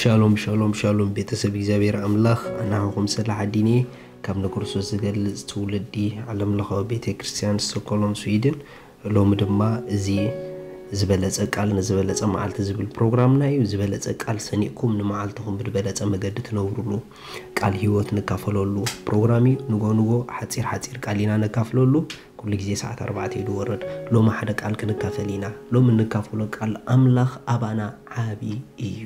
ሻሎም ሻሎም ሻሎም፣ ቤተሰብ እግዚኣብሔር ኣምላኽ ኣናሃኹም ስለ ሓዲኒ ካብ ንክርስቶስ ዝገልጽ ትውልዲ ዓለምለኻዊ ቤተ ክርስቲያን ስቶኮሎም ስዊድን። ሎሚ ድማ እዚ ዝበለጸ ቃል ንዝበለጸ መዓልቲ ዝብል ፕሮግራምና እዩ። ዝበለጸ ቃል ሰኒቕኩም ንመዓልትኹም ብዝበለጸ መገዲ ትነብሩሉ፣ ቃል ህይወት ንካፈለሉ ፕሮግራም እዩ። ንጎ ንጎ ሓጺር ሓጺር ቃል ኢና ነካፍለሉ። ኩሉ ግዜ ሰዓት ኣርባዕተ እዩ ዝወርድ። ሎሚ ሓደ ቃል ክንካፈል ኢና። ሎሚ እንካፈሎ ቃል ኣምላኽ ኣባና ዓቢ እዩ።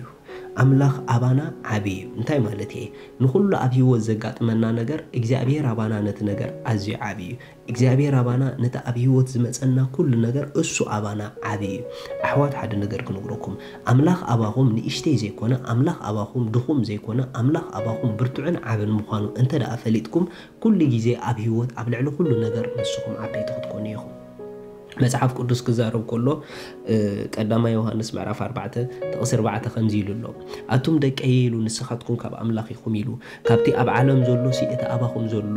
ኣምላኽ ኣባና ዓቢ እዩ። እንታይ ማለት እየ? ንኹሉ ኣብ ህይወት ዘጋጥመና ነገር እግዚኣብሔር ኣባና ነቲ ነገር ኣዝዩ ዓቢ እዩ። እግዚኣብሔር ኣባና ነቲ ኣብ ህይወት ዝመጸና ኩሉ ነገር እሱ ኣባና ዓቢ እዩ። ኣሕዋት ሓደ ነገር ክነግረኩም። ኣምላኽ ኣባኹም ንእሽተይ ዘይኮነ፣ ኣምላኽ ኣባኹም ድኹም ዘይኮነ፣ ኣምላኽ ኣባኹም ብርቱዕን ዓብን ምዃኑ እንተ ደኣ ፈሊጥኩም ኩሉ ግዜ ኣብ ህይወት ኣብ ልዕሊ ኩሉ ነገር ንስኹም ዓበይቲ ክትኮኑ ኢኹም። መጽሓፍ ቅዱስ ክዛረብ ከሎ ቀዳማይ ዮሃንስ ምዕራፍ ኣርባዕተ ጥቕሲ ኣርባዕተ ከምዚ ኢሉ ኣሎ፣ ኣቱም ደቀይ ኢሉ ንስኻትኩም ካብ ኣምላኽ ኢኹም ኢሉ፣ ካብቲ ኣብ ዓለም ዘሎ ሲ እቲ ኣባኹም ዘሎ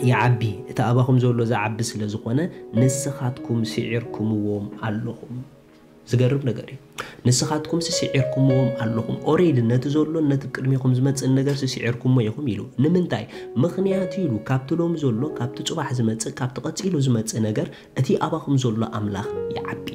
ይዓቢ፣ እቲ ኣባኹም ዘሎ ዝዓቢ ስለ ዝኾነ ንስኻትኩም ስዒርኩምዎም ኣለኹም። ዝገርም ነገር እዩ። ንስኻትኩም ስስዒርኩምዎም ኣለኹም። ኦሬዲ ነቲ ዘሎን ነቲ ቅድሚኹም ዝመጽእን ነገር ስስዒርኩሞ ኢኹም ኢሉ። ንምንታይ? ምኽንያቱ ኢሉ ካብቲ ሎሚ ዘሎ፣ ካብቲ ጽባሕ ዝመጽእ፣ ካብቲ ቀጺሉ ዝመጽእ ነገር እቲ ኣባኹም ዘሎ ኣምላኽ ይዓቢ።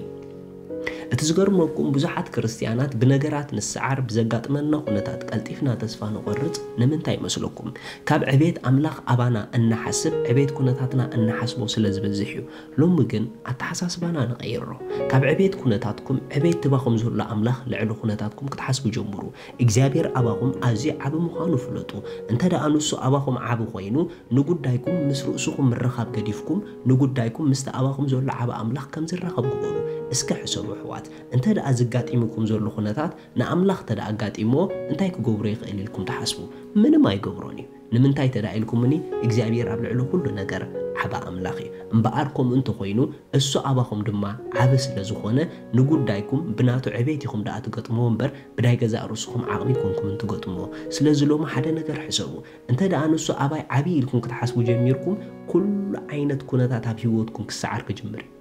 እቲ ዝገርመኩም ብዙሓት ክርስትያናት ብነገራት ንስዓር፣ ብዘጋጥመና ኩነታት ቀልጢፍና ተስፋ ንቖርጽ ንምንታይ ይመስለኩም? ካብ ዕቤት ኣምላኽ ኣባና እንሓስብ ዕቤት ኩነታትና እንሓስቦ ስለ ዝበዝሕ እዩ። ሎሚ ግን ኣተሓሳስባና ንቐይሮ። ካብ ዕቤት ኩነታትኩም ዕቤት ትባኹም ዘሎ ኣምላኽ ልዕሊ ኩነታትኩም ክትሓስቡ ጀምሩ። እግዚኣብሔር ኣባኹም ኣዝዩ ዓቢ ምዃኑ ፍለጡ። እንተ ደኣ ንሱ ኣባኹም ዓቢ ኮይኑ ንጉዳይኩም ምስ ርእስኹም ምርኻብ ገዲፍኩም ንጉዳይኩም ምስቲ ኣባኹም ዘሎ ዓቢ ኣምላኽ ከም ዝራኸብ ግበሩ። እስከ ሕሰቡ ኣሕዋት፣ እንተ ደኣ ዝጋጢምኩም ዘሎ ኩነታት ንኣምላኽ እንተ ደኣ ኣጋጢምዎ እንታይ ክገብሮ ይኽእል ኢልኩም ትሓስቡ? ምንም ኣይገብሮን እዩ። ንምንታይ ተዳ ኢልኩምኒ እግዚኣብሔር ኣብ ልዕሊ ኩሉ ነገር ዓባ ኣምላኽ እዩ። እምበኣር ከምኡ እንተኾይኑ እሱ ኣባኹም ድማ ዓቢ ስለ ዝኾነ ንጉዳይኩም ብናቱ ዕቤት ኢኹም ደኣ ትገጥምዎ እምበር ብናይ ገዛእ ርእስኹም ዓቕሚ ኣይኮንኩምን ትገጥምዎ። ስለዚ ሎሚ ሓደ ነገር ሕሰቡ። እንተ ደኣ ንሱ ኣባይ ዓቢ ኢልኩም ክትሓስቡ ጀሚርኩም ኩሉ ዓይነት ኩነታት ኣብ ህይወትኩም ክሰዓር ክጅምር እዩ።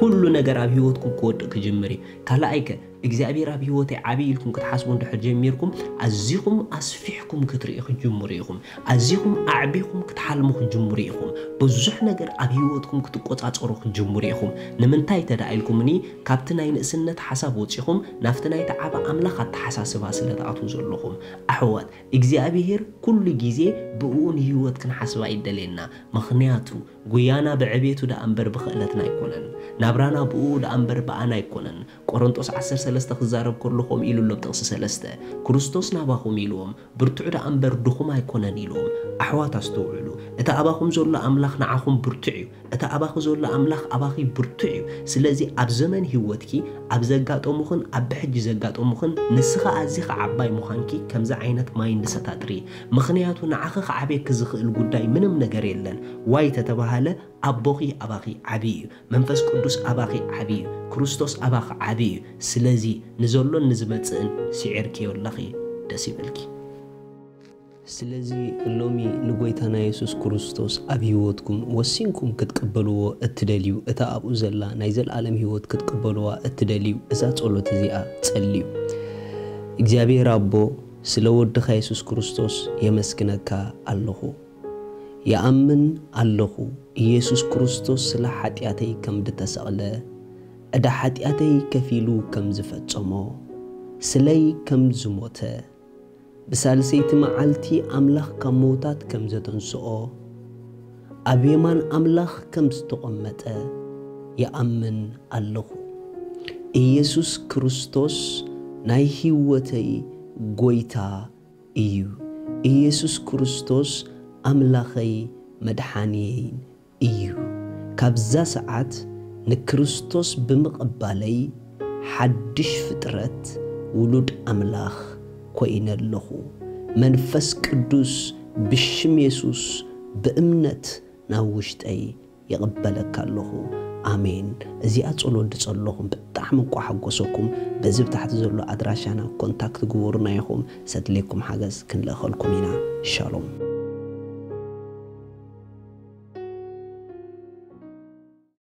ኩሉ ነገር ኣብ ህይወትኩም ክወድቕ ክጅምር እዩ። ካልኣይከ እግዚኣብሔር ኣብ ህይወተይ ዓብዪ ኢልኩም ክትሓስቡ እንድሕር ጀሚርኩም ኣዚኹም ኣስፊሕኩም ክትርእዩ ክትጅምሩ ኢኹም። ኣዚኹም ኣዕቢኹም ክትሓልሙ ክትጅምሩ ኢኹም። ብዙሕ ነገር ኣብ ህይወትኩም ክትቆጻጸሩ ክትጅምሩ ኢኹም። ንምንታይ ተዳ ኢልኩምኒ ካብቲ ናይ ንእስነት ሓሳብ ወጺኹም ናብቲ ናይ ተዓባ ኣምላኽ ኣተሓሳስባ ስለ ትኣትዉ ዘለኹም። ኣሕዋት እግዚኣብሔር ኩሉ ግዜ ብእኡ ንህይወት ክንሓስባ ይደልየና። ምኽንያቱ ጉያና ብዕቤቱ ደኣ እምበር ብኽእለትና ኣይኮነን። ናብራና ብእኡ ደኣ እምበር ብኣና ኣይኮነን። ቆሮንጦስ ዓሰርተ ሰለስተ ክዛረብ ከሎ ከምኡ ኢሉ ኣሎ ኣብ ጥቕሲ ሰለስተ፣ ክርስቶስ ናባኹም ኢልዎም ብርቱዕ ደኣ እምበር ድኹም ኣይኮነን ኢልዎም። ኣሕዋት ኣስተውዕሉ፣ እቲ ኣባኹም ዘሎ ኣምላኽ ንዓኹም ብርቱዕ እዩ። እቲ ኣባኺ ዘሎ ኣምላኽ ኣባኺ ብርቱዕ እዩ። ስለዚ ኣብ ዘመን ህይወትኪ ኣብ ዘጋጠሙኽን ኣብ ብሕጂ ዘጋጠሙኽን ንስኺ ኣዚኺ ዓባይ ምዃንኪ ከምዚ ዓይነት ማይንድሰት ኣጥሪ። ምኽንያቱ ንዓኺ ክዓብየኪ ዝኽእል ጉዳይ ምንም ነገር የለን። ዋይ ተተባሃለ ኣቦኺ ኣባኺ ዓቢ እዩ። መንፈስ ቅዱስ ኣባኺ ዓቢ እዩ። ክርስቶስ ኣባኺ ዓቢ እዩ። ስለዚ ንዘሎን ንዝመጽእን ስዒርክዮ ኣለኺ። ደስ ይበልኪ። ስለዚ ሎሚ ንጎይታና የሱስ ክርስቶስ ኣብ ህይወትኩም ወሲንኩም ክትቅበልዎ እትደልዩ፣ እታ ኣብኡ ዘላ ናይ ዘለኣለም ህይወት ክትቅበልዋ እትደልዩ፣ እዛ ጸሎት እዚኣ ጸልዩ። እግዚኣብሔር ኣቦ፣ ስለ ወድኻ የሱስ ክርስቶስ የመስግነካ ኣለኹ። ይኣምን ኣለኹ፣ ኢየሱስ ክርስቶስ ስለ ሓጢኣተይ ከም ዝተሰቕለ፣ ዕዳ ሓጢኣተይ ከፊሉ ከም ዝፈጸሞ፣ ስለይ ከም ዝሞተ፣ ብሳልሰይቲ መዓልቲ ኣምላኽ ካብ ምዉታት ከም ዘተንስኦ፣ ኣብ የማን ኣምላኽ ከም ዝተቐመጠ ይኣምን ኣለኹ። ኢየሱስ ክርስቶስ ናይ ህይወተይ ጐይታ እዩ። ኢየሱስ ክርስቶስ ኣምላኸይ መድሓንየይን እዩ። ካብዛ ሰዓት ንክርስቶስ ብምቕባለይ ሓድሽ ፍጥረት ውሉድ ኣምላኽ ኮይነ ኣለኹ። መንፈስ ቅዱስ ብሽም የሱስ ብእምነት ናብ ውሽጠይ ይቕበለካ ኣለኹ። ኣሜን። እዚኣ ጸሎት ዝጸለኹም ብጣዕሚ እንቋ ሓጎሰኩም። በዚ ብታሕቲ ዘሎ ኣድራሻና ኮንታክት ግበሩና ኢኹም። ሰድሌኩም ሓገዝ ክንልእኸልኩም ኢና። ሻሎም።